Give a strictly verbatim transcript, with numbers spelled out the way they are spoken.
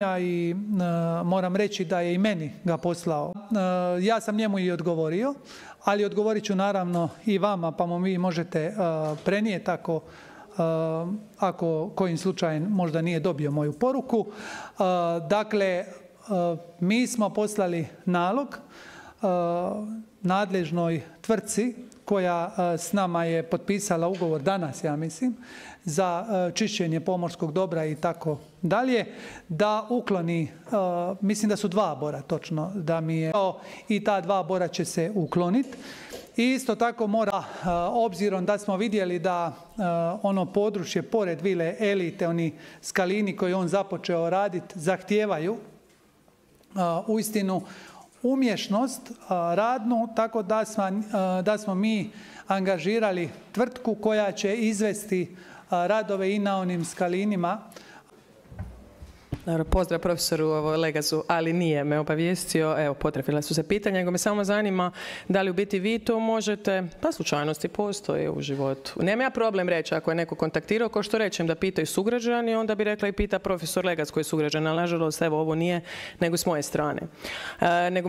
i e, moram reći da je i meni ga poslao. E, ja sam njemu i odgovorio, ali odgovorit ću naravno i vama, pa mu vi možete e, prenijeti ako, e, ako kojim slučajem možda nije dobio moju poruku. E, dakle, e, mi smo poslali nalog e, nadležnoj tvrtci koja e, s nama je potpisala ugovor danas, ja mislim, za e, čišćenje pomorskog dobra i tako dalje, da ukloni, e, mislim da su dva bora točno, da mi je i ta dva bora će se ukloniti. I isto tako mora, e, obzirom da smo vidjeli da e, ono područje pored vile Elite, oni skalini koji on započeo raditi, zahtijevaju e, uistinu umješnost radnu, tako da smo, da smo mi angažirali tvrtku koja će izvesti radove i na onim skalinima. Pozdrav profesoru Legazu, ali nije me obavijestio, evo potrefila su se pitanja, nego me samo zanima da li u biti vi to možete, pa slučajnosti postoje u životu. Nema ja problem reći ako je neko kontaktirao, kao što rečem da pitaju sugrađani, onda bi rekla i pita profesor Legaz koji je sugrađan, ali nažalost evo ovo nije nego s moje strane. E, nego